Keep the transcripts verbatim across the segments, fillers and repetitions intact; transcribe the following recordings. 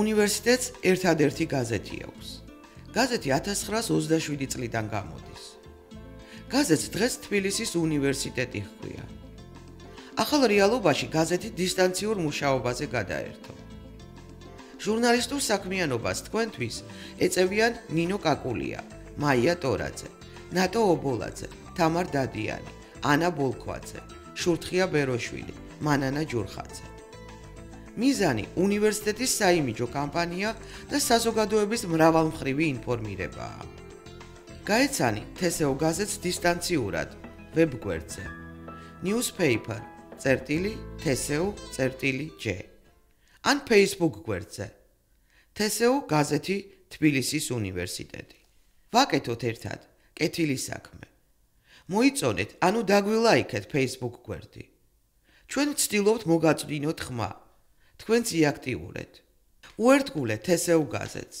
უნივერსიტეტს ერთადერთი გაზეთი აქვს. გაზეთი ათას ცხრაას ოცდაშვიდი წლიდან გამოდის. გაზეთს დღეს თბილისის უნივერსიტეტი ჰქვია. ახალ რეალობაში გაზეთი დისტანციურ მუშაობაზე გადაერთო. ჟურნალისტურ საქმიანობას თქვენთვის ეწევიან ნინო კაკულია, მაია ტორაძე, ნატო ობოლაძე, თამარ დადიანი, ანა ბოლქვაძე, შურთხია ბეროშვილი, მანანა ჯურხაძე. მიზანი უნივერსიტეტის საიმიჯო კამპანია და საზოგადოების მრავალმხრივი ინფორმირებაა. გაეცანი თესეო გაზეთს დისტანციურად ვებგვერდზე newspaper წერტილი თესეო წერტილი ჯე ან Facebook გვერდზე თესეო გაზეთი თბილისის უნივერსიტეტი. ვაკეთოთ ერთად კეთილის საქმე. მოიწონეთ, ანუ დაგვილაიქეთ Facebook გვერდი. ჩვენ ვცდილობთ მოგაწვდინოთ ხმა. თქვენც იაქტიურეთ. უერთგულეთ თესეო გაზეთს.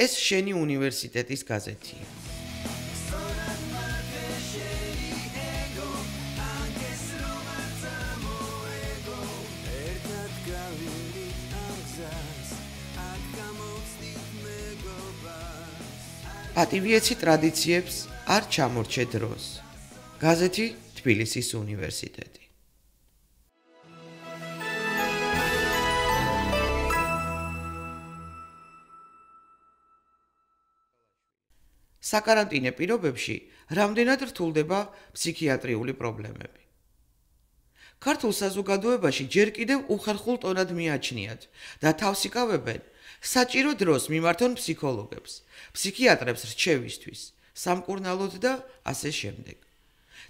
ეს შენი უნივერსიტეტის გაზეთია. პატივიეცი ტრადიციებს არ ჩამორჩე დროს. გაზეთი თბილისის უნივერსიტეტი. საკარანტინე პირობებში რამდენად რთულდება ფსიქიატრიული პრობლემები. ქართულ საზოგადოებაში ჯერ კიდევ უხერხულ ტონად მიაჩნიათ და თავს იკავებენ საჭირო დროს მიმართონ ფსიქოლოგებს, ფსიქიატრებს რჩევისთვის, სამკურნალოდ და ასე შემდეგ.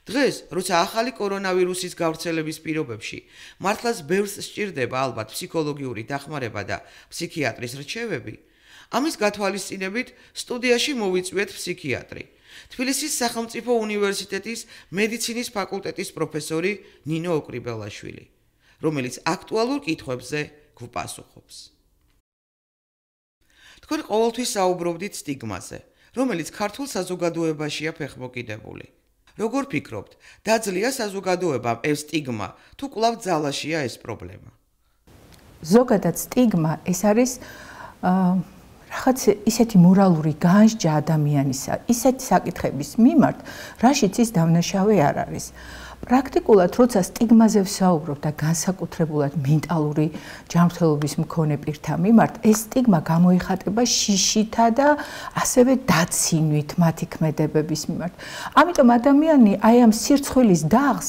დღეს, როცა ახალი კორონავირუსის გავრცელების პირობებში მართლაც ბევრს სჭირდება ალბათ ფსიქოლოგიური დახმარება და ფსიქიატრის რჩევები, ამის გათვალისწინებით სტუდიაში მოვიწვიეთ ფსიქიატრი, თბილისის სახელმწიფო უნივერსიტეტის მედიცინის ფაკულტეტის პროფესორი ნინო ოკრიბელაშვილი, რომელიც აქტუალურ კითხვებზე გვპასუხობს. თქვენ ყოველთვის საუბრობდით სტიგმაზე, რომელიც ქართულ საზოგადოებაშია ფეხმოკიდებული. როგორ ფიქრობთ, დაძლია საზოგადოებამ ეს სტიგმა, თუ კვლავ ძალაშია ეს პრობლემა? ზოგადად სტიგმა ეს არის რაღაც ისეთი მორალური განსჯა ადამიანისა, ისეთი საკითხების მიმართ, რაშიც ის დამნაშავე არ არის. პრაქტიკულად, როცა სტიგმაზე ვსაუბრობ და განსაკუთრებულად მენტალური ჯანმრთელობის მქონე პირთა მიმართ, ეს სტიგმა გამოიხატება შიშითა და ასევე დაცინვით მათი ქმედებების მიმართ. ამიტომ ადამიანი აი ამ სირცხვილის დაღს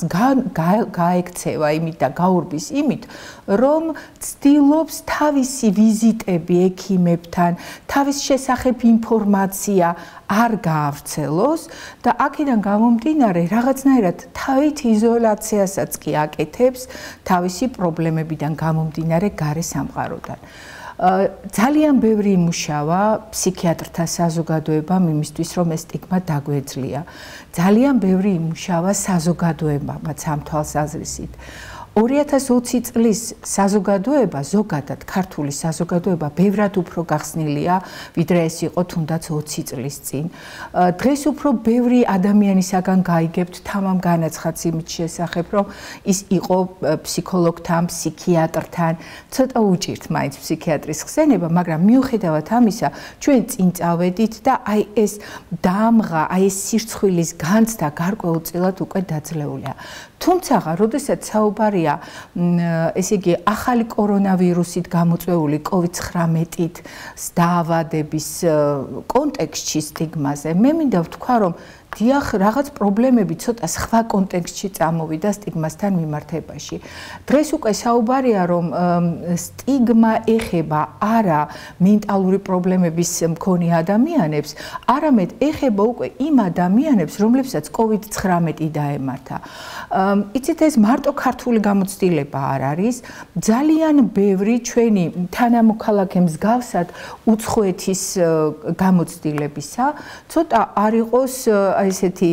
გაექცევა იმით და გაურბის იმით, რომ ცდილობს თავისი ვიზიტები ექიმებთან, თავის შესახებ ინფორმაცია არ გაავრცელოს და აქედან გამომდინარე რაღაცნაირად თავით იზოლაციასაც კი აკეთებს თავისი პრობლემებიდან გამომდინარე გარე სამყაროდან. ძალიან ბევრი იმუშავა ფსიქიატრთა საზოგადოებამ იმისთვის, რომ ეს სტიგმა დაგვეძლია. ძალიან ბევრი იმუშავა საზოგადოებამაც ამ თვალსაზრისით. ორი ათას ოცი წლის საზოგადოება, ზოგადად ქართული საზოგადოება ბევრად უფრო გახსნილია, ვიდრე ეს იყო თუნდაც ოცი წლის წინ. დღეს უფრო ბევრი ადამიანისაგან გაიგებთ თამამ განაცხადს იმის შესახებ, რომ ის იყო ფსიქოლოგთან, ფსიქიატრთან, ცოტა უჭირთ მაინც ფსიქიატრის ხსენება, მაგრამ მიუხედავად ამისა, ჩვენ წინ წავედით და აი ეს დამღა, აი ეს სირცხვილის განცდა გარკვეულწილად უკვე დაძლეულია. თუმცა, როდესაც საუბარია ესე იგი ახალი კორონავირუსით გამოწვეული კოვიდ ცხრამეტით დაავადების კონტექსტში სტიგმაზე, მე მინდა ვთქვა, რომ დიახ, რაღაც პრობლემები ცოტა სხვა კონტექსტში წამოვიდა სტიგმასთან მიმართებაში. დღეს უკვე საუბარია, რომ სტიგმა ეხება არა მენტალური პრობლემების მქონე ადამიანებს, არამედ ეხება უკვე იმ ადამიანებს, რომლებსაც კოვიდ ცხრამეტი დაემართა. იცით, ეს მარტო ქართული გამოცდილება არ არის, ძალიან ბევრი ჩვენი თანამოქალაქე მსგავსად უცხოეთის გამოცდილებისა, ცოტა არ იყოს ესეთი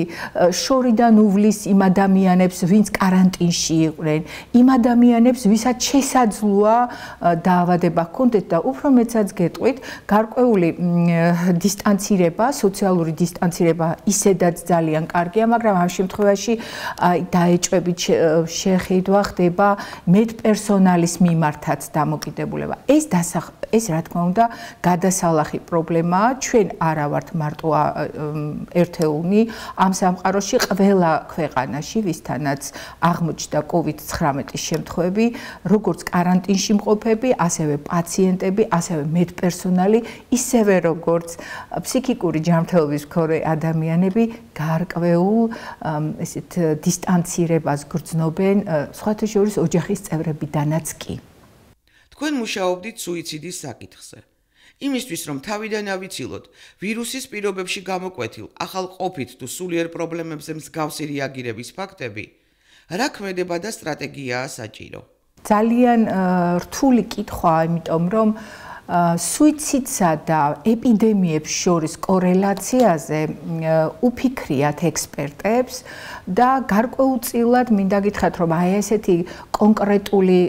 შორიდან უვლის იმ ადამიანებს, ვინც კარანტინში იყვნენ, იმ ადამიანებს, ვისაც შესაძლოა დაავადება ჰქონდეთ და უფრო მეცაც გეტყვით, გარკვეული დისტანცირება, სოციალური დისტანცირება ისედაც ძალიან კარგია, მაგრამ ამ შემთხვევაში დაეჭვებით შეხედვა ხდება მედპერსონალის მიმართაც დამოკიდებულება. ეს დასახ ეს რა თქმა უნდა გადასალახი პრობლემაა. ჩვენ არა ვართ მარტო ერთეულნი ამ სამყაროში, ყველა ქვეყანაში, ვისთანაც აღმოჩნდა კოვიდ ცხრამეტის შემთხვევები, როგორც კარანტინში მყოფები, ასევე პაციენტები, ასევე მედპერსონალი, ისევე როგორც ფსიქიკური ჯანმრთელობის მქონე ადამიანები გარკვეულ ესეთ დისტანცირებას გრძნობენ, სხვათა შორის ოჯახის წევრებიდანაც კი. თქვენ მუშაობდით სუიციდის საკითხზე. იმისთვის, რომ თავიდან ავიცილოთ ვირუსის პირობებში გამოკვეთილ ახალ ყოფით თუ სულიერ პრობლემებზე მსგავსი რეაგირების ფაქტები, რა ქმედება და სტრატეგიაა საჭირო? ძალიან რთული კითხვაა, იმიტომ რომ სუიციდსა და ეპიდემიებს შორის კორელაციაზე უფიქრიათ ექსპერტებს და გარკვეულწილად მინდა გითხრათ, რომ აი ესეთი კონკრეტული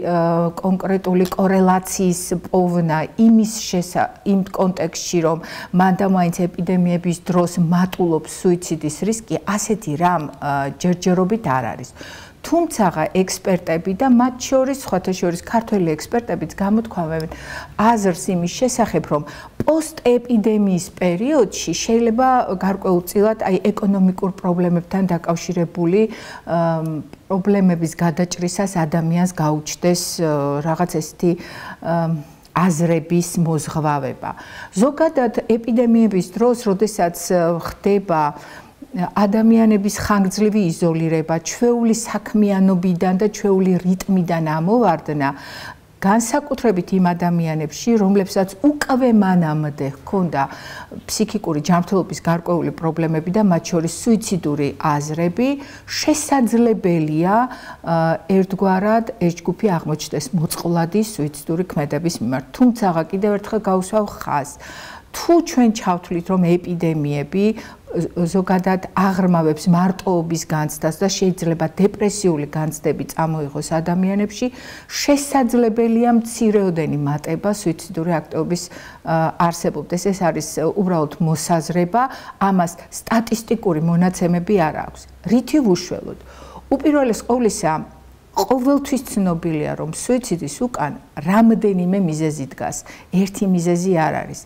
კონკრეტული კორელაციის პოვნა იმის შესა იმ კონტექსტში, რომ მანდამაინც ეპიდემიების დროს მატულობს სუიციდის რისკი, ასეთი რამ ჯერჯერობით არ არის. თუმცა ექსპერტები და მათ შორის სხვათა შორის ქართველი ექსპერტებიც გამოთქვამენ აზრს იმის შესახებ, რომ პოსტეპიდემიის პერიოდში შეიძლება გარკვეულწილად აი ეკონომიკურ პრობლემებთან დაკავშირებული პრობლემების გადაჭრისას ადამიანს გაუჩნდეს რაღაც ესეთი აზრების მოზღვავება. ზოგადად ეპიდემიების დროს, როდესაც ხდება ადამიანების ხანგრძლივი იზოლირება, ჩვეული საქმიანობიდან და ჩვეული რიტმიდან ამოვარდნა, განსაკუთრებით იმ ადამიანებში, რომლებსაც უკვე მანამდე ჰქონდა ფსიქიკური ჯანმრთელობის გარკვეული პრობლემები და მათ შორის სუიციდური აზრები, შესაძლებელია ერთგვარად ეს ჯგუფი აღმოჩნდეს მოწყვლადი სუიციდური ქმედების მიმართ. თუმცა კიდევ ერთხელ გავუსვავ ხაზს, თუ ჩვენ ჩავთვლით, რომ ეპიდემიები ზოგადად აღრმავებს მარტოობის განცდას და შეიძლება დეპრესიული განცდები წამოიღოს ადამიანებში, შესაძლებელია მცირეოდენი მატება სუიციდური აქტივობის არსებობდეს. ეს არის უბრალოდ მოსაზრება, ამას სტატისტიკური მონაცემები არ აქვს. რითი ვუშველოთ? უპირველეს ყოვლისა, ყოველთვის ცნობილია, რომ სუიციდის უკან რამდენიმე მიზეზი დგას. ერთი მიზეზი არ არის.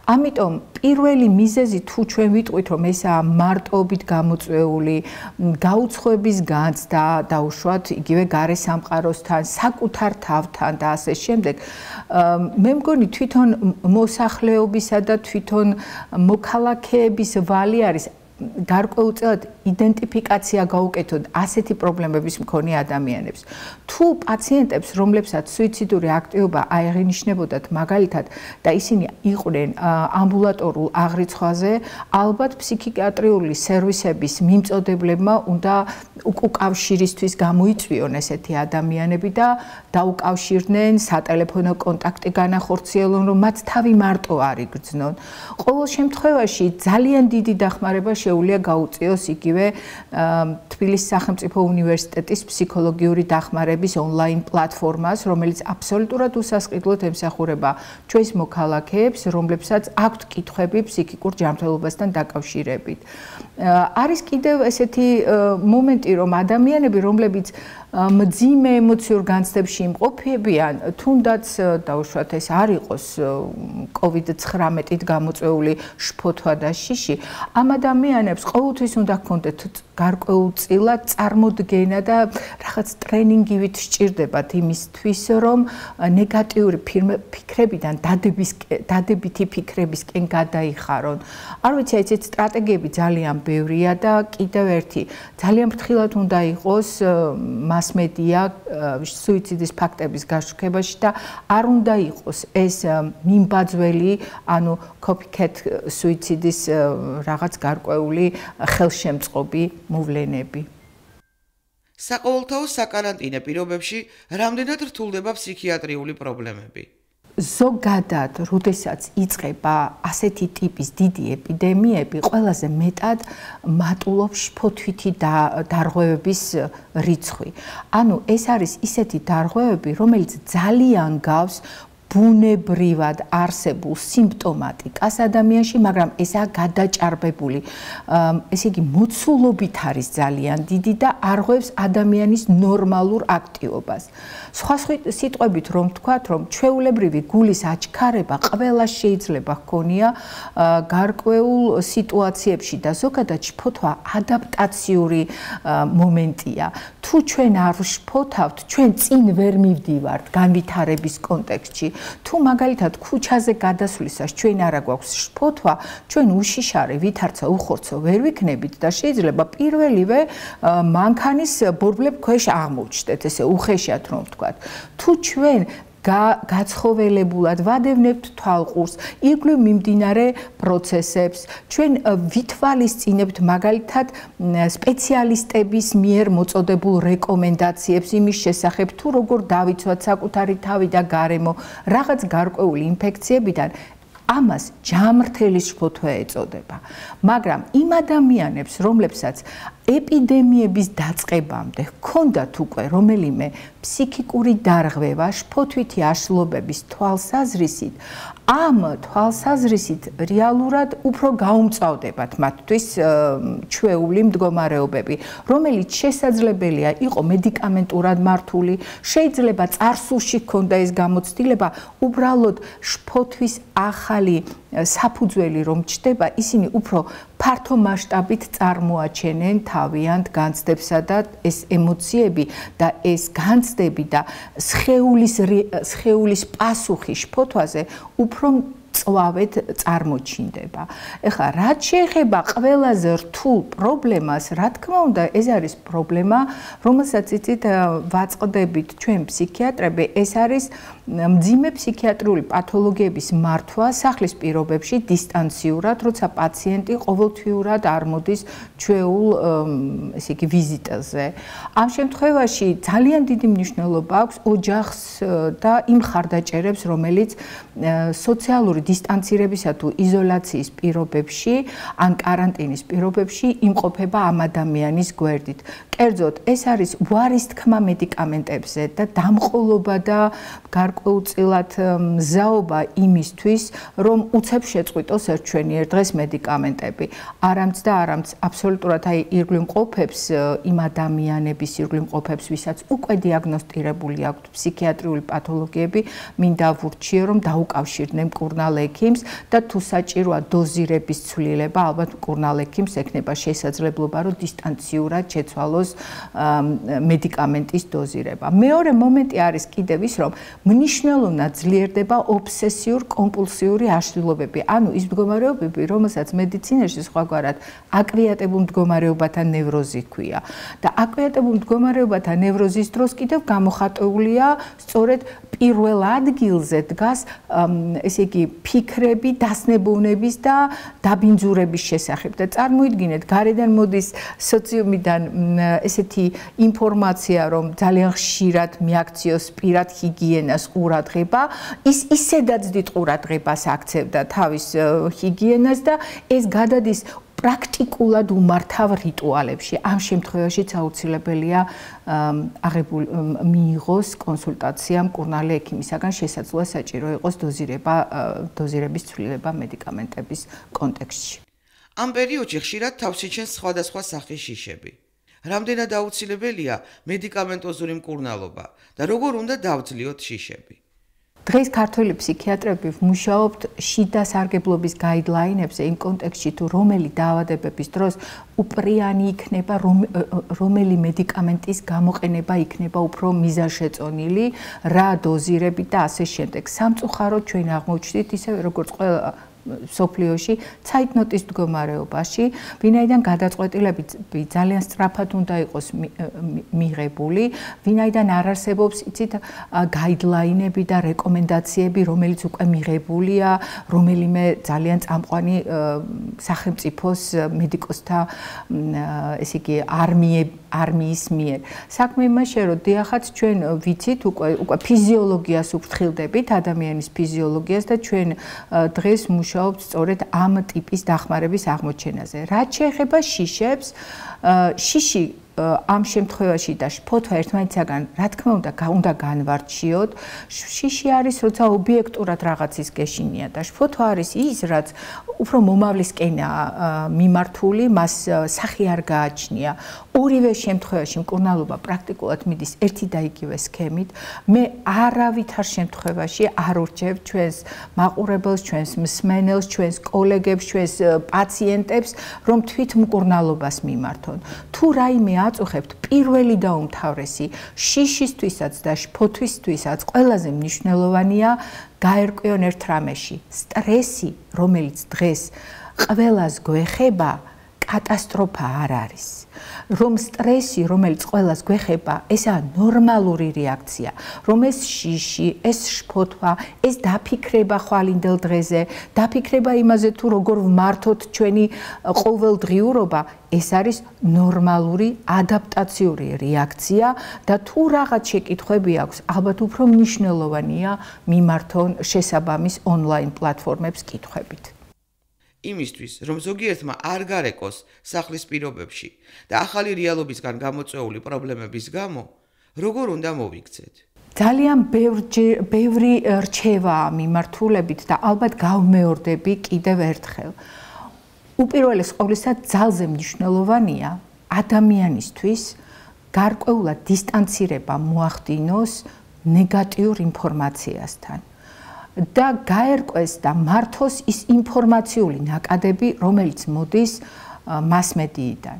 ამიტომ პირველი მიზეზი თუ ჩვენ ვიტყვით, რომ ესაა მარტოობით გამოწვეული გაუცხოების განცდა, დაუშვათ იგივე გარე სამყაროსთან, საკუთარ თავთან და ასე შემდეგ, მე მგონი თვითონ მოსახლეობისა და თვითონ მოქალაქეების ვალი არის გარკვეულწილად იდენტიფიკაცია გაუკეთოთ ასეთი პრობლემების მქონე ადამიანებს. თუ პაციენტებს, რომლებსაც სუიციდური აქტივობა აეღინიშნებოდათ მაგალითად და ისინი იყვნენ ამბულატორულ აღრიცხვაზე, ალბათ ფსიქიატრიული სერვისების მიმწოდებლებმა უნდა უკავშირისთვის გამოიწვიონ ესეთი ადამიანები და დაუკავშირდნენ სატელეფონო კონტაქტი განახორციელონ, რომ მათ თავი მარტო არ იგრძნონ. ყოველ შემთხვევაში ძალიან დიდი დახმარება შეუძლია გაუწიოს იგივე თბილისის სახელმწიფო უნივერსიტეტის ფსიქოლოგიური დახმარების ონლაინ პლატფორმას, რომელიც აბსოლუტურად უსასყიდლოდ ემსახურება ჩვენს მოქალაქეებს, რომლებსაც აქვთ კითხვები ფსიქიკურ ჯანმრთელობასთან დაკავშირებით. არის კიდევ ესეთი მომენტი, რომ ადამიანები, რომლებიც მძიმე ემოციურ განცდებში იმყოფებიან, თუნდაც დაუშვათ ეს არ იყოს კოვიდ ცხრამეტით გამოწვეული შფოთვა და შიში, ამ ადამიანებს ყოველთვის უნდა ჰქონდეთ გარკვეულწილად წარმოდგენა და რაღაც ტრენინგივით სჭირდებათ იმისთვის, რომ ნეგატიური ფიქრებიდან დადების დადებითი ფიქრებისკენ გადაიხარონ. არ ვიცი, ეს სტრატეგიები ძალიან ბევრია და კიდევ ერთი ძალიან ფრთხილად უნდა იყოს მასმედია სუიციდის ფაქტების გაშუქებაში და არ უნდა იყოს ეს მიმბაძველი, ანუ copycat სუიციდის რაღაც გარკვეული ხელშემწყობი მოვლენები. საყოველთაო საკარანტინო პირობებში რამდენად რთულდება ფსიქიატრიული პრობლემები? ზოგადად, როდესაც იწყება ასეთი ტიპის დიდი ეპიდემიები, ყველაზე მეტად მატულობს შფოთვითი დარღვევების რიცხვი. ანუ ეს არის ისეთი დარღვევები, რომელიც ძალიან გავს ბუნებრივად არსებულ სიმპტომატიკას ადამიანში, მაგრამ ესაა გადაჭარბებული. ესე იგი, მოცულობით არის ძალიან დიდი და არღვევს ადამიანის ნორმალურ აქტივობას. სხვა სიტყვებით რომ ვთქვათ, რომ ჩვეულებრივი გულის აჩქარება ყველას შეიძლება ჰქონია გარკვეულ სიტუაციებში და ზოგადად შფოთვა ადაპტაციური მომენტია. თუ ჩვენ არ შფოთავთ, ჩვენ წინ ვერ მივდივართ განვითარების კონტექსტში. თუ მაგალითად ქუჩაზე გადასვლისას ჩვენ არა გვაქვს შფოთვა, ჩვენ უშიშარი, ვითარცა, უხორცო ვერ ვიქნებით და შეიძლება პირველივე მანქანის ბორბლებ ქვეშ აღმოჩნდეთ, ესე უხეშად რომ ვთქვათ. თუ ჩვენ გაცხოველებულად ვადევნებთ თვალყურს, ირგვლივ მიმდინარე პროცესებს, ჩვენ ვითვალისწინებთ მაგალითად სპეციალისტების მიერ მოწოდებულ რეკომენდაციებს იმის შესახებ, თუ როგორ დავიცვათ საკუთარი თავი და გარემო რაღაც გარკვეული ინფექციებიდან, ამას ჯამრთელი შფოთვა ეწოდება. მაგრამ იმ ადამიანებს, რომლებსაც ეპიდემიების დაწყებამდე ჰქონდათ უკვე რომელიმე ფსიქიკური დარღვევა, შფოთვითი აშლობების თვალსაზრისით, ამ თვალსაზრისით რეალურად უფრო გაუმწვავდებათ მათთვის ჩვეული მდგომარეობები, რომელიც შესაძლებელია იყო მედიკამენტურად მართული, შეიძლება წარსულში ჰქონდა ეს გამოცდილება, უბრალოდ შფოთვის ახალი საფუძველი რომ ჩდება, ისინი უფრო ფართო მასშტაბით წარმოაჩენენ თავიანთ განცდებსა და ეს ემოციები და ეს განცდები და სხეულის სხეულის პასუხი შფოთვაზე უფრო წვავეთ წარმოჩინდება. ეხლა რაც შეეხება ყველაზე რთულ პრობლემას, რა თქმა უნდა, ეს არის პრობლემა, რომელსაც იცით ვაწყდებით ჩვენ ფსიქიატრები, ეს არის მძიმე ფსიქიატრიული პათოლოგიების მართვა სახლის პირობებში დისტანციურად, როცა პაციენტი ყოველთვიურად არ მოდის ჩვეულ ესე იგი ვიზიტაზე. ამ შემთხვევაში ძალიან დიდი მნიშვნელობა აქვს ოჯახს და იმ მხარდაჭერებს, რომელიც სოციალური დისტანცირებისა თუ იზოლაციის პირობებში ან კარანტინის პირობებში იმყოფება ამ ადამიანის გვერდით. კერძოდ, ეს არის უარის თქმა მედიკამენტებზე და დამყოლობა და გარკვეულწილად მზაობა იმისთვის, რომ უცებ შეწყვიტოს ერთჩვენიერ დღეს მედიკამენტები. არამც და არამც აბსოლუტურად აი ირგვლივ მყოფებს იმ ადამიანების ირგვლივ მყოფებს, ვისაც უკვე დიაგნოსტირებული აქვთ ფსიქიატრიული პათოლოგიები, მინდა ვურჩიო, რომ დაუკავშირდნენ მკურნალ ექიმს და თუ საჭიროა დოზირების ცვლილება, ალბათ მკურნალ ექიმს ექნება შესაძლებლობა, რომ დისტანციურად შეცვალოს მედიკამენტის დოზირება. მეორე მომენტი არის კიდევ ის, რომ მნიშვნელოვნად ძლიერდება ობსესიურ-კომპულსიური აშლილობები, ანუ ის მდგომარეობები, რომელსაც მედიცინაში სხვაგვარად აკვიატებულ მდგომარეობათა ნევროზი ჰქვია. და აკვიატებულ მდგომარეობათა ნევროზის დროს კიდევ გამოხატულია სწორედ პირველ ადგილზე დგას ესე იგი ფიქრები, დასნებოვნების და დაბინძურების შესახებ. და წარმოიდგინეთ, გარედან მოდის სოციუმიდან ესეთი ინფორმაცია, რომ ძალიან ხშირად მიაქციოს პირად ჰიგიენას ყურადღება, ის ისედაც დიდ ყურადღებას აქცევდა თავის ჰიგიენას და ეს გადადის პრაქტიკულად უმართავ რიტუალებში. ამ შემთხვევაშიც აუცილებელია აღებულ მიიღოს კონსულტაცია მკურნალი ექიმისაგან, შესაძლოა საჭირო იყოს დოზირება, დოზირების ცვლილება მედიკამენტების კონტექსტში. ამ პერიოდში ხშირად თავს იჩენს სხვადასხვა სახის შიშები. რამდენად აუცილებელია მედიკამენტოზური მკურნალობა და როგორ უნდა დავძლიოთ შიშები? დღეს ქართველი ფსიქიატრები ვმუშაობთ შიდა სარგებლობის გაიდლაინებზე იმ კონტექსტში, თუ რომელი დაავადებების დროს უპრიანი იქნება, რომელი მედიკამენტის გამოყენება იქნება უფრო მიზანშეწონილი, რა დოზირებით და ასე შემდეგ. სამწუხაროდ ჩვენ აღმოჩნდით ისევე როგორც ყველა სოფლიოში ცაიტნოტის მდგომარეობაში, ვინაიდან გადაწყვეტილები ძალიან სწრაფად უნდა იყოს მიღებული, ვინაიდან არ არსებობს იცით გაიდლაინები და რეკომენდაციები, რომელიც უკვე მიღებულია რომელიმე ძალიან წამყვანი სახელმწიფოს მედიკოსთა ესე იგი არმიები არმიის მიერ. საქმე იმაშია, რომ დიახაც ჩვენ ვიცით უკვე უკვე ფიზიოლოგიას უფრთხილდებით, ადამიანის ფიზიოლოგიას და ჩვენ დღეს მუშაობთ სწორედ ამ ტიპის დახმარების აღმოჩენაზე. რაც შეეხება შიშებს, შიში ამ შემთხვევაში და ფოთვა ერთმანეთისაგან რა თქმა უნდა უნდა განვარჩიოთ. შიში არის, როცა ობიექტურად რაღაცის გეშინია და ფოთვა არის ის, რაც უფრო მომავლისკენაა მიმართული, მას სახი არ გააჩნია. ორივე შემთხვევაში მკურნალობა პრაქტიკულად მიდის ერთი და იგივე სქემით. მე არავითარ შემთხვევაში არ ურჩევ ჩვენს მაყურებელს, ჩვენს მსმენელს, ჩვენს კოლეგებს, ჩვენს პაციენტებს, რომ თვით მკურნალობას მიმართონ. თუ რაიმე აწუხებთ, პირველი და უმთავრესი შიშისთვისაც და ფოთვისთვისაც ყველაზე მნიშვნელოვანია გაერკვიონ ერთ რამეში. სტრესი, რომელიც დღეს ყველას გვეხება, კატასტროფა არ არის. რომ სტრესი, რომელიც ყველას გვეხება, ესაა ნორმალური რეაქცია. რომ ეს შიში, ეს შფოთვა, ეს დაფიქრება ხვალინდელ დღეზე, დაფიქრება იმაზე თუ როგორ ვმართოთ ჩვენი ყოველდღიურობა, ეს არის ნორმალური ადაპტაციური რეაქცია და თუ რაღაც შეკითხვები აქვს, ალბათ უფრო მნიშვნელოვანია მიმართონ შესაბამის ონლაინ პლატფორმებს კითხვებით. იმისთვის, რომ ზოგიერთმა არ გარეკოს სახლის პირობებში და ახალი რეალობისგან გამოწვეული პრობლემების გამო, როგორ უნდა მოვიქცეთ? ძალიან ბევრი რჩევაა მიმართულებით და ალბათ გავმეორდები კიდევ ერთხელ. უპირველეს ყოვლისა ძალზე მნიშვნელოვანია ადამიანისთვის გარკვეულად დისტანცირება მოახდინოს ნეგატიურ ინფორმაციასთან. და გაერკვეს და მართოს ის ინფორმაციული ნაკადები, რომელიც მოდის მასმედიიდან.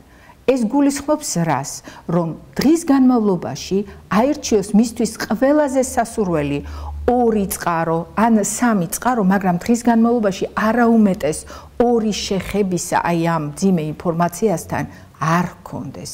ეს გულისხმობს რას, რომ დღის განმავლობაში აირჩიოს მისთვის ყველაზე სასურველი ორი წყარო, ან სამი წყარო, მაგრამ დღის განმავლობაში არაუმეტეს ორი შეხებისა აი ამ ძიმე ინფორმაციასთან არ გქონდეს.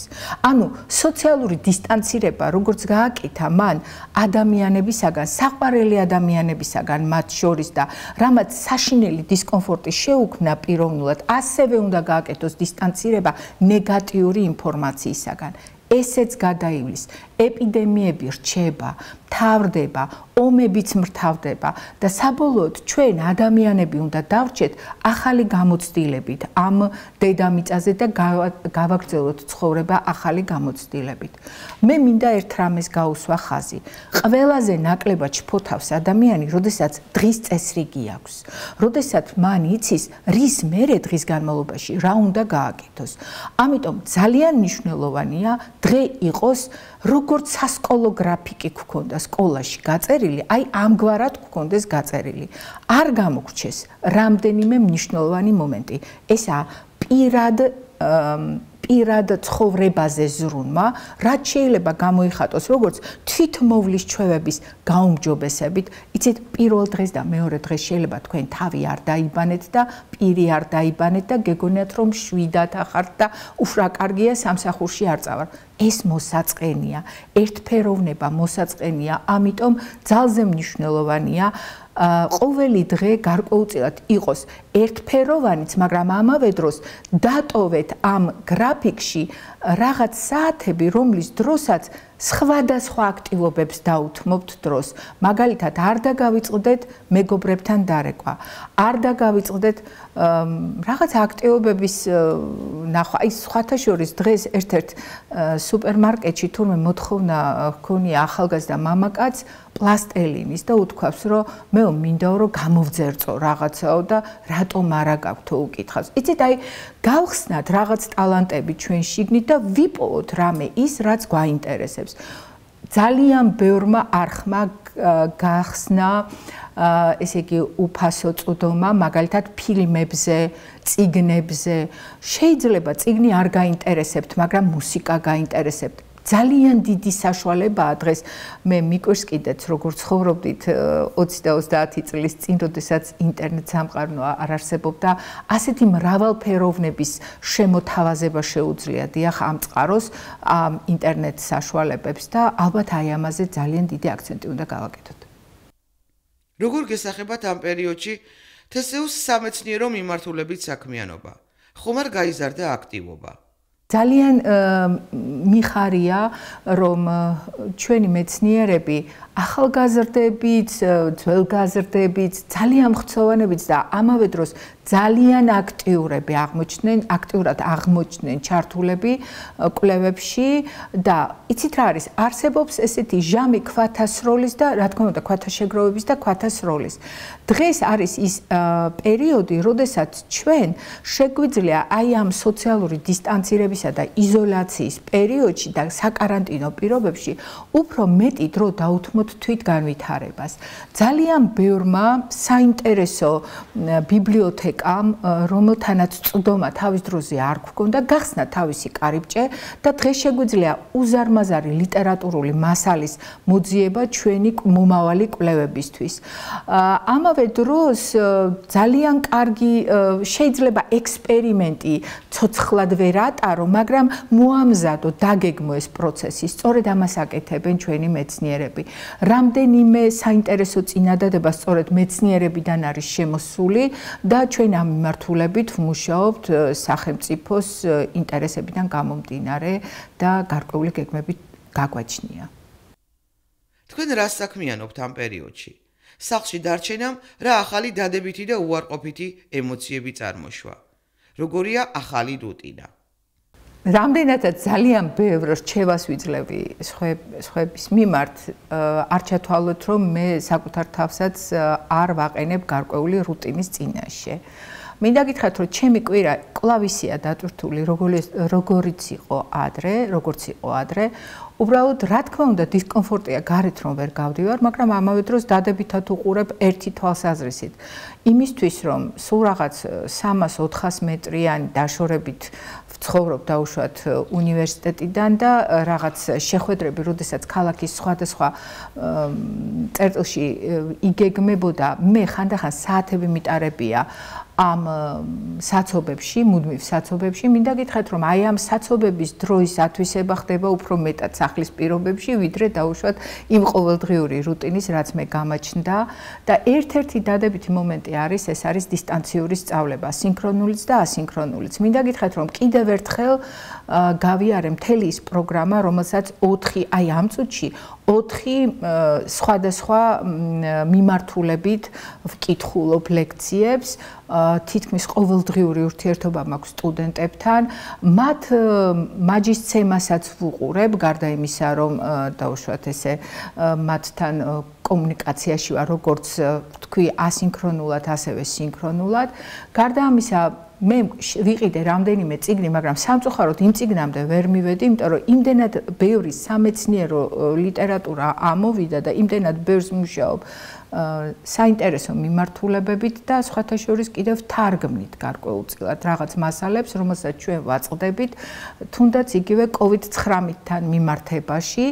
ანუ სოციალური დისტანცირება, როგორც გააკეთა მან ადამიანებისაგან, საყვარელი ადამიანებისაგან მათ შორის და რამაც საშინელი დისკომფორტი შეუქმნა პიროვნულად, ასევე უნდა გააკეთოს დისტანცირება ნეგატიური ინფორმაციისაგან. ესეც გადაივლის, ეპიდემიები რჩება, მთავრდება, ომებიც მრთავდება და საბოლოოდ ჩვენ ადამიანები უნდა დავრჩეთ ახალი გამოცდილებით ამ დედამიწაზე და გავაგრძელოთ ცხოვრება ახალი გამოცდილებით. მე მინდა ერთ რამეს გაუსვა ხაზი. ყველაზე ნაკლებად შფოთავს ადამიანი, როდესაც დღის წესრიგი აქვს. როდესაც მან იცის, რის მერე დღის განმავლობაში რა უნდა გააკეთოს. ამიტომ ძალიან მნიშვნელოვანია დღე იყოს როგორც სასკოლო გრაფიკი გქონდა სკოლაში გაწერილი, აი ამგვარად გქონდეს გაწერილი. არ გამოგრჩეს რამდენიმე მნიშვნელოვანი მომენტი. ესაა პირად პირად ცხოვრებაზე ზრუნვა, რაც შეიძლება გამოიხატოს როგორც თვითმოვლის ჩვევების გაუმჯობესებით. იცით, პირველ დღეს და მეორე დღეს შეიძლება თქვენ თავი არ დაიბანეთ და პირი არ დაიბანეთ და გეგონიათ რომ შვიდათ ახართ და ufrაკარგია სამსახურში არ წავარ. ეს მოსაწყენია, ერთფეროვნება მოსაწყენია, ამიტომ ძალზე მნიშვნელოვანია ყოველი დღე გარკვეულწილად იყოს ერთფეროვანიც, მაგრამ ამავე დროს დატოვეთ ამ გრაფიკში რაღაც საათები, რომლის დროსაც სხვადასხვა აქტივობებს დაუთმობთ დროს. მაგალითად, არ დაგავიწყდეთ მეგობრებთან დარეკვა, არ დაგავიწყდეთ რაღაც აქტივობების ნახვა. აი, სხვათა შორის დღეს ერთ-ერთ სუპერმარკეტში თურმე მოთხოვნა ჰქონია ახალგაზრდა მამაკაც პლასტელინის და უთქვავს, რომ მე მინდაო რომ გამოვძერწო რაღაცაო და რატომ არა გაქვთო უკითხავს. იცით, აი, გავხსნათ რაღაც ტალანტები ჩვენ შიგნით და ვიპოვოთ რამე ის, რაც გვაინტერესებს. ძალიან ბევრმა არხმა გახსნა ესე იგი უფასო წვდომა, მაგალითად ფილმებზე, წიგნებზე. შეიძლება წიგნი არ გაინტერესებთ, მაგრამ მუსიკა გაინტერესებთ. ძალიან დიდი საშუალებაა დღეს მე მიკვირს კიდეც როგორც ცხოვრობდით ოცი და ოცდაათი წლის წინ, როდესაც ინტერნეტ სამყარო არ არსებობდა, ასეთი მრავალფეროვნების შემოთავაზება შეუძლია დიახ ამ წყაროს, ამ ინტერნეტ საშუალებებს და ალბათ აი ამაზე ძალიან დიდი აქცენტი უნდა გავაკეთოთ. როგორ გესახებათ ამ პერიოდში თესეუს სამეცნიერო მიმართულებით საქმიანობა? ხომ არ გაიზარდა აქტივობა? ძალიან მიხარია, რომ ჩვენი მეცნიერები ახალგაზრდებით, ძველგაზრდებით, ძალიან მხცოვანებით და ამავე დროს ძალიან აქტიურები აღმოჩნდნენ, აქტიურად აღმოჩნდნენ ჩართულები კვლევებში და იცით რა არის, არსებობს ესეთი ჟამი ქვათასროლის და რა თქმა უნდა ქვათაშეგროვების და ქვათასროლის. დღეს არის ის პერიოდი, როდესაც ჩვენ შეგვიძლია აი ამ სოციალური დისტანცირებისა და იზოლაციის პერიოდში და საკარანტინო პირობებში უფრო მეტი დრო დაუთმოთ თვითგანვითარებას. ძალიან ბევრმა საინტერესო ბიბლიოთეკამ, რომელთანაც წვდომა თავის დროზე არ გვქონდა, გახსნა თავისი კარიბჭე და დღეს შეგვიძლია უზარმაზარი ლიტერატურული მასალის მოძიება ჩვენი მომავალი კვლევებისთვის. ამავე დროს ძალიან კარგი შეიძლება ექსპერიმენტი ცოცხლად ვერ ატარო, მაგრამ მოამზადო, დაგეგმო ეს პროცესი. სწორედ ამას აკეთებენ ჩვენი მეცნიერები. რამდენიმე საინტერესო წინადადება სწორედ მეცნიერებიდან არის შემოსული და ჩვენ ამ მიმართულებით ვმუშაობთ სახელმწიფოს ინტერესებიდან გამომდინარე და გარკვეული გეგმები გაგვაჩნია. თქვენ რას საქმიანობთ ამ პერიოდში? სახლში დარჩენამ რა ახალი დადებითი და უარყოფითი ემოციები წარმოშვა? როგორია ახალი რუტინა? რამდენადაც ძალიან ბევრ რჩევას ვიძლევი სხვების მიმართ, არ ჩათვალოთ, რომ მე საკუთარ თავსაც არ ვაყენებ გარკვეული რუტინის წინაშე. მინდა გითხრათ, რომ ჩემი კვირა კლავისია დატვირთული, როგორიც იყო ადრე, როგორც იყო ადრე. უბრალოდ, რა თქმა უნდა, დისკომფორტია გარეთ რომ ვერ გავდივარ, მაგრამ ამავე დროს დადებითად უყურებ ერთი თვალსაზრისით. იმისთვის, რომ სულ რაღაც სამას ოთხას მეტრიანი დაშორებით ვცხოვრობ დაუშვათ უნივერსიტეტიდან და რაღაც შეხვედრები, როდესაც ქალაქის სხვადასხვა წერტილში იგეგმებოდა, მე ხანდახან საათები მიტარებია ამ საცობებში, მუდმივ საცობებში, მინდა გითხრათ, რომ აი ამ საცობების დროის ათვისება ხდება უფრო მეტად სახლის პირობებში, ვიდრე დაუშვათ იმ ყოველდღიური რუტინის, რაც მე გამაჩნდა და ერთ-ერთი დადებითი მომენტი არის, ეს არის დისტანციური სწავლება, სინქრონულიც და ასინქრონულიც. მინდა გითხრათ, რომ კიდევ ერთხელ გავიარე მთელი ის პროგრამა, რომელსაც ოთხი, აი ამ წუთში ოთხი სხვადასხვა მიმართულებით ვკითხულობ ლექციებს, თითქმის ყოველდღიური ურთიერთობა მაქვს სტუდენტებთან, მათ მაჯისცემასაც ვუყურებ, გარდა იმისა, რომ დაუშვათ ესე მათთან კომუნიკაციაში ვარ, როგორც თქვი, ასინქრონულად, ასევე სინქრონულად. გარდა ამისა, მე ვიყიდე რამდენიმე წიგნი, მაგრამ სამწუხაროდ იმ წიგნამდე ვერ მივედი, იმიტომ რომ იმდენად ბევრი სამეცნიერო ლიტერატურა ამოვიდა და იმდენად ბევრს მუშაობ საინტერესო მიმართულებებით და სხვათა შორის კიდევ თარგმნით გარკვეულწილად რაღაც მასალებს, რომელსაც ჩვენ ვაწყდებით, თუნდაც იგივე კოვიდ ცხრამეტთან მიმართებაში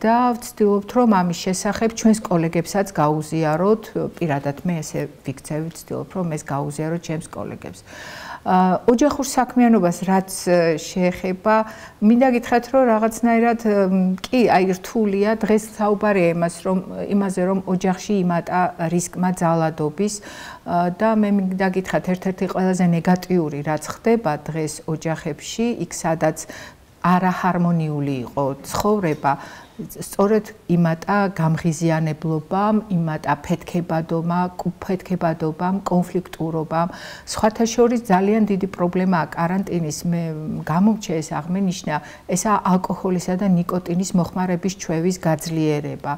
და ვცდილობთ, რომ ამის შესახებ ჩვენს კოლეგებსაც გაუზიაროთ, პირადად მე ესე ვიქცევ, ვცდილობ, რომ ეს გაუზიაროთ ჩემს კოლეგებს. ოჯახურ საქმიანობას რაც შეეხება, მინდა გითხრათ, რომ რაღაცნაირად კი, აი რთულია, დღეს საუბარია იმას, რომ იმაზე, რომ ოჯახში იმატა რისკმა ძალადობის და მე მინდა გითხრათ, ერთ-ერთი ყველაზე ნეგატიური რაც ხდება დღეს ოჯახებში, იქ სადაც არაჰარმონიული იყო ცხოვრება, სწორედ იმატა გამღიზიანებლობამ, იმატა ფეთქებადობამ, ფეთქებადობამ, კონფლიქტურობამ. სხვათა შორის ძალიან დიდი პრობლემაა კარანტინის, მე გამომჩა ეს აღმენიშნა, ესაა ალკოჰოლისა და ნიკოტინის მოხმარების ჩვევის გაძლიერება.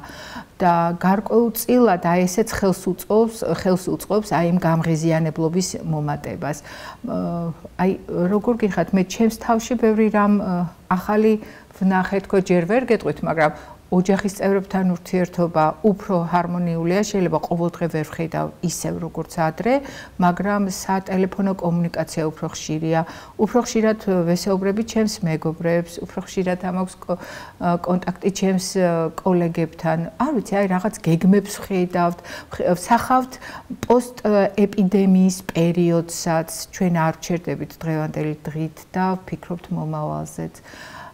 და გარკვეულწილად აი ესეც ხელს უწყობს, ხელს უწყობს აი იმ გამღიზიანებლობის მომატებას. აი როგორ გიხართ, მე ჩემს თავში ბევრი რამ ახალი ვნახე, თქო ჯერ ვერ გეტყვით, მაგრამ ოჯახის წევრებთან ურთიერთობა უფრო ჰარმონიულია, შეიძლება ყოველდღე ვერ ვხედავ ისევ როგორც ადრე, მაგრამ სატელეფონო კომუნიკაცია უფრო ხშირია, უფრო ხშირად ვესაუბრები ჩემს მეგობრებს, უფრო ხშირად ამაქვს კონტაქტი ჩემს კოლეგებთან. არ ვიცი, აი რაღაც გეგმებს ვხედავთ, ვსახავთ პოსტ ეპიდემიის პერიოდსაც, ჩვენ არ ვჩერდებით დღევანდელი დღით და ვფიქრობთ მომავალზეც.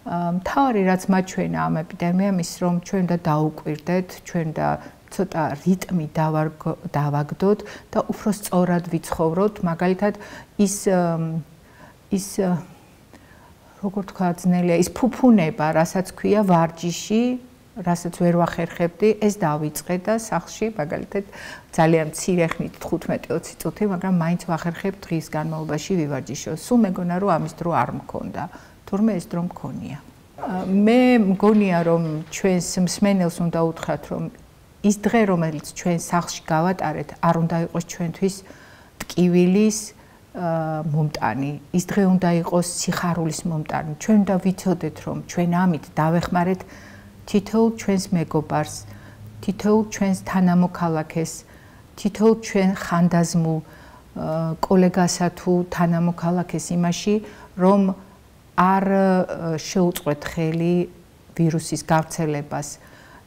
მთავარი რაც მაჩვენა ამ ეპიდემიამ ის რომ ჩვენ უნდა დაუკვირდეთ, ჩვენ და ცოტა რიტმი დავაგდოთ და უფრო სწორად ვიცხოვროთ, მაგალითად ის ის როგორ თქვა, ძნელია ის ფუფუნება, რასაც ქვია ვარჯიში, რასაც ვერ ვახერხებდი, ეს დავიწყე და სახლში, მაგალითად, ძალიან მცირე ხნით თხუთმეტი ოცი წუთი, მაგრამ მაინც ვახერხებ დღის განმავლობაში ვივარჯიშო. სულ მეგონა რომ ამის დრო არ მქონდა, თურმე ეს დრო მქონია. მე მგონია რომ ჩვენს მსმენელს უნდა უთხრათ რომ ის დღე რომელიც ჩვენ სახლში გავატარეთ არ უნდა იყოს ჩვენთვის ტკივილის მომტანი, ის დღე უნდა იყოს სიხარულის მომტანი. ჩვენ უნდა ვიცოდეთ რომ ჩვენ ამით დავეხმარეთ თითოეულ ჩვენს მეგობარს, თითოეულ ჩვენს თანამოქალაქეს, თითოეულ ჩვენ ხანდაზმულ კოლეგასა თუ თანამოქალაქეს იმაში, რომ არ შეუწყვეთ ხელი ვირუსის გავრცელებას.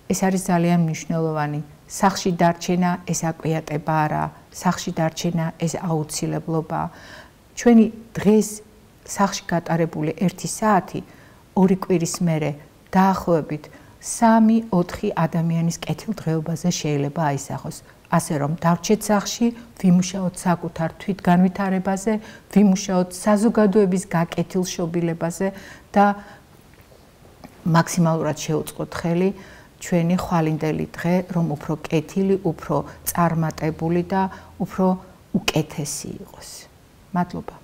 ეს არის ძალიან მნიშვნელოვანი. სახლში დარჩენა ეს აკვიატება არა, სახლში დარჩენა ეს აუცილებლობა. ჩვენი დღეს სახლში გატარებული ერთი საათი ორი კვირის მერე დაახლოებით სამი ოთხი ადამიანის კეთილდღეობაზე შეიძლება აისახოს. ასე რომ დავრჩეთ სახლში, ვიმუშაოთ საკუთარ თვითგანვითარებაზე, ვიმუშაოთ საზოგადოების გაკეთილშობილებაზე და მაქსიმალურად შევუწყოთ ხელი ჩვენი ხვალინდელი დღე, რომ უფრო კეთილი, უფრო წარმატებული და უფრო უკეთესი იყოს. მადლობა.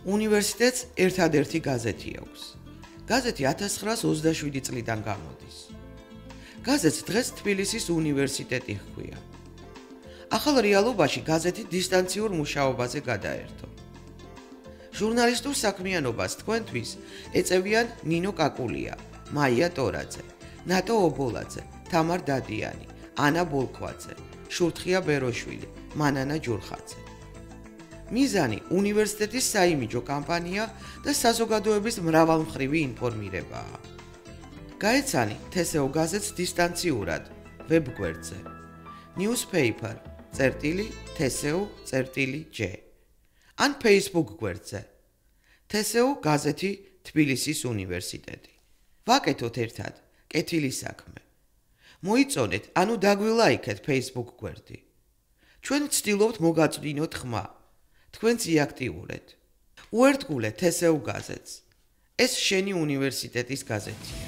უნივერსიტეტს ერთადერთი გაზეთი აქვს. გაზეთი ათას ცხრაას ოცდაშვიდი წლიდან გამოდის. გაზეთს დღეს თბილისის უნივერსიტეტი ჰქვია. ახალ რეალობაში გაზეთი დისტანციურ მუშაობაზე გადაერთო. ჟურნალისტურ საქმიანობას თქვენთვის ეწევიან ნინო კაკულია, მაია ტორაძე, ნატო ობოლაძე, თამარ დადიანი, ანა ბოლქვაძე, შურთხია ბეროშვილი, მანანა ჯურხაძე. მიზანი უნივერსიტეტის საიმიჯო კამპანია და საზოგადოების მრავალმხრივი ინფორმირებაა. გაეცანი თესეო გაზეთს დისტანციურად ვებგვერდზე newspaper წერტილი თესეო წერტილი ჯე ან Facebook გვერდზე თესეო გაზეთი თბილისის უნივერსიტეტი. ვაკეთოთ ერთად კეთილი საქმე. მოიწონეთ, ანუ დაგვილაიქეთ Facebook გვერდი. ჩვენ ვცდილობთ მოგაწვდინოთ ხმა. თქვენც იაქტიურეთ. უერთგულეთ თესეო გაზეთს. ეს შენი უნივერსიტეტის გაზეთია.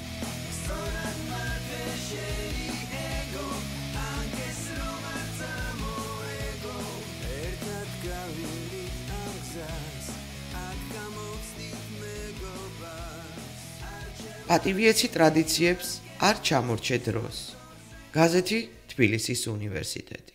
პატივიეცი ტრადიციებს არ ჩამორჩე დროს. გაზეთი თბილისის უნივერსიტეტი.